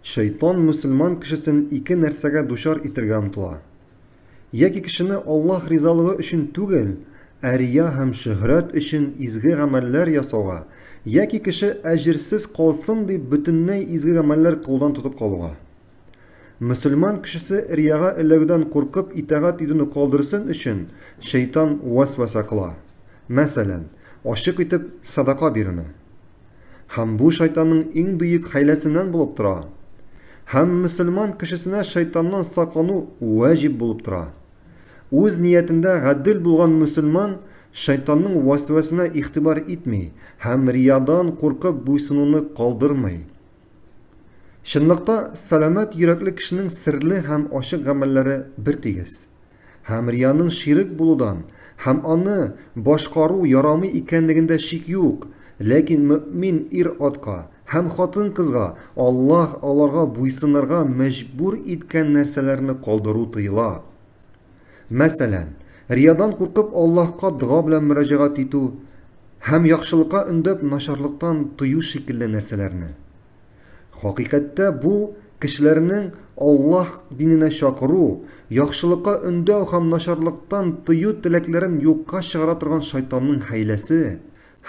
Шайтан мөселман кешесен ике нәрсәгә дучар итергә омтыла. Яки кешене Аллаһ ризалыгы өчен түгел, ә рия һәм шөһрәт өчен изге гамәлләр ясауга, яки кеше әҗерсез калсын дип бөтенләй изге гамәлләр кылудан тотып калуга. Мөселман кешесе рияга эләгүдән куркып итагать итүне калдырсын өчен шайтан вәсвәсә кыла. Мәсәлән, ачык итеп садака бирүне. Һәм бу шайтанның иң бөек хәйләсеннән булып тора. Һәм мөселман кешесенә шайтаннан саклану вәҗиб булып тора. Үз ниятендә гадел булган мөселман шайтанның вәсвәсенә игътибар итми һәм риядан куркып буйсынуны калдырмый. Чынлыкта сәламәт йөрәкле кешенең серле һәм ачык гамәлләре бертигез. Һәм рияның ширек булудан һәм аны башкару ярамый икәнлегендә шик юк, ләкин мөэмин ир-атка һәм хатын-кызга Аллаһ аларга буйсынырга мәҗбүр иткән нәрсәләрне калдыру тыела. Мәсәлән, риядан куркып Аллаһка дога белән мөрәҗәгать итү һәм яхшылыкка өндәп начарлыктан тыю шикелле нәрсәләрне. Хакыйкатьтә бу, кешеләрнең Аллаһ диненә чакыру, яхшылыкка өндәү һәм начарлыктан тыю теләкләрен юкка чыгара торган шайтанның хәйләсе.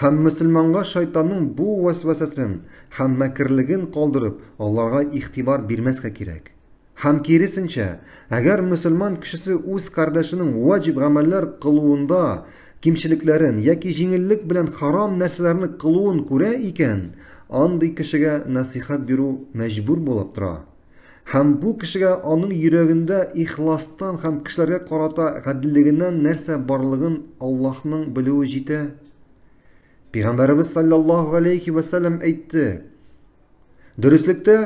Һәм мөселманга шайтанның бу вәсвәсәсен һәм мәкерлеген калдырып, аларга игътибар бирмәскә кирәк. Һәм киресенчә, әгәр мөселман кешесе үз кардәшенең ваҗиб гамәлләр кылуында кимчелекләрен яки җиңеллек белән харам нәрсәләрне кылуын күрә икән, андый кешегә нәсыйхәт бирү мәҗбүр булып тора. Һәм бу кешегә аның йөрәгендә ихластан һәм кешеләргә карата гаделлегеннән нәрсә барлыгын Аллаһның белүе җитә. Пәйгамбәребез саллаллаһу галәйһи вә сәлләм әйтте: Дөреслектә,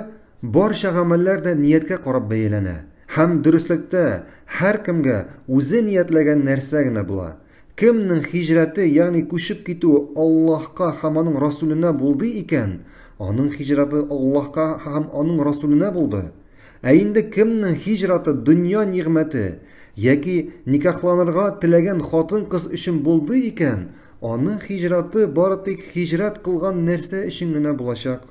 барча гамәлләр дә нияткә карап бәяләнә. Һәм дөреслектә, һәркемгә үзе ниятләгән нәрсә генә була. Кемнең һиҗрәте, ягъни күчеп китүе Аллаһка һәм аның Расүленә булды икән, аның һиҗрәте Аллаһка һәм аның Расүленә булды. Ә инде кемнең һиҗраты дөнья нигъмәте яки никахланырга теләгән хатын-кыз өчен булды икән, аның һиҗраты бары тик һиҗрәт кылган нәрсә өчен генә булачак.